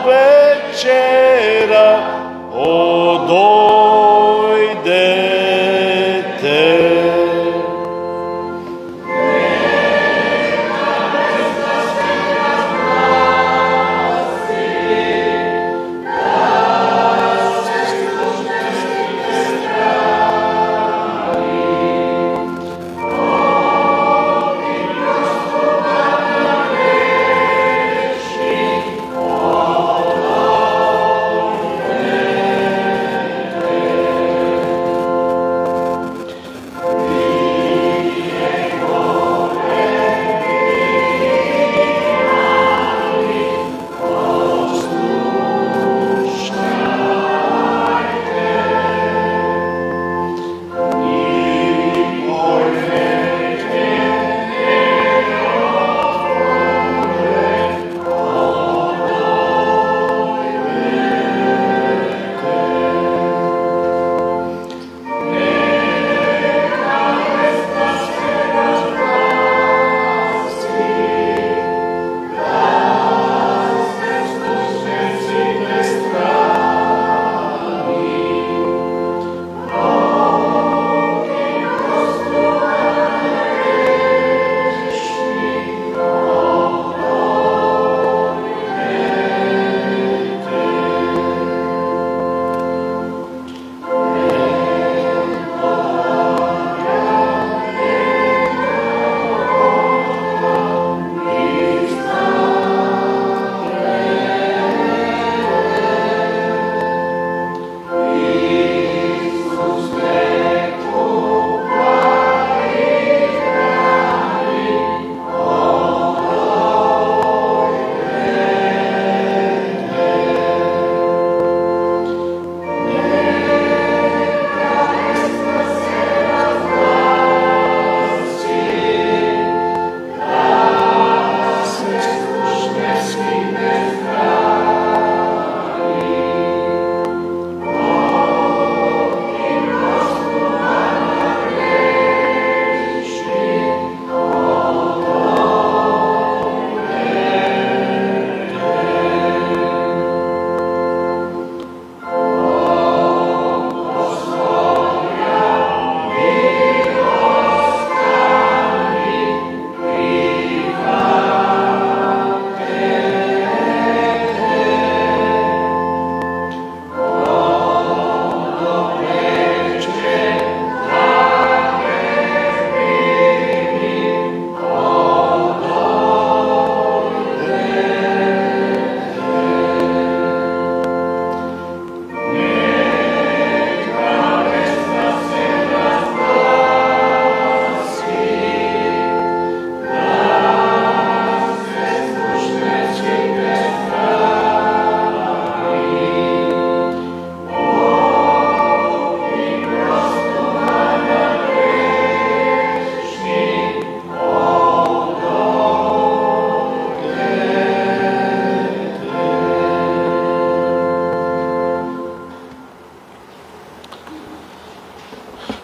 вечера, одојдете.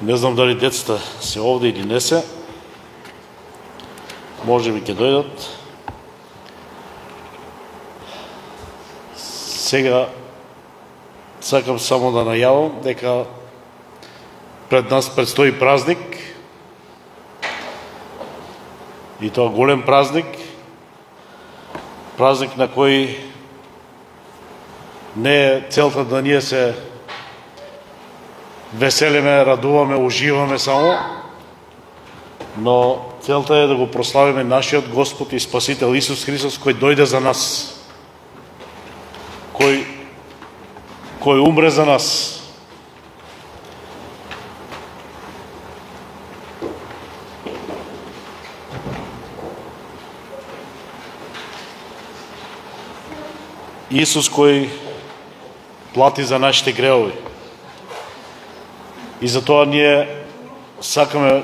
Не знам дали децата се овде или не се. Може би ќе дојдат. Сега сакам само да најавам дека пред нас предстои празник. И тоа голем празник. Празник на кој не е целта да ние се веселиме, радуваме, уживаме само, но целта е да го прославиме нашиот Господ и Спасител Исус Христос, кој дојде за нас, кој умре за нас. Исус кој плати за нашите гревови. И затоа ние сакаме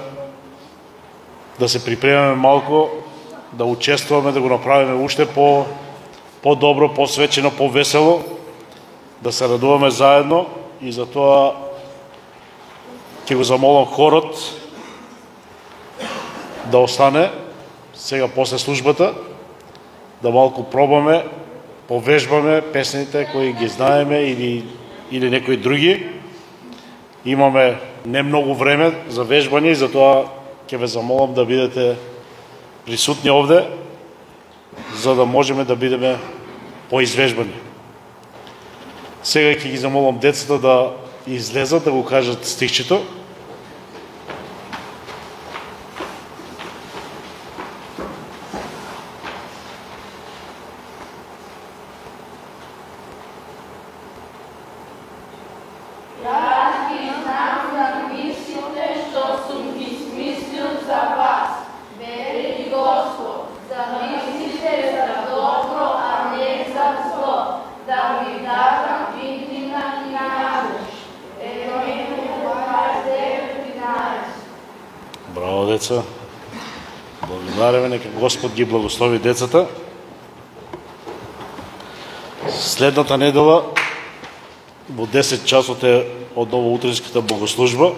да се припремаме малку, да учествуваме, да го направиме уште по-добро, посвечено, по-весело, да се радуваме заедно и затоа ќе го замолам хорот да остане сега после службата, да малку пробаме, повежбаме песните кои ги знаеме или некои други. Имаме не многу време за вежбање и затоа ќе ве замолам да бидете присутни овде, за да можеме да бидеме поизвежбани. Сега ќе ги замолам децата да излезат, да го кажат стихчето. Браво, деца. Благодариме, нека Господ ги благослови децата. Следната недела во 10 часот е одново утринската богослужба.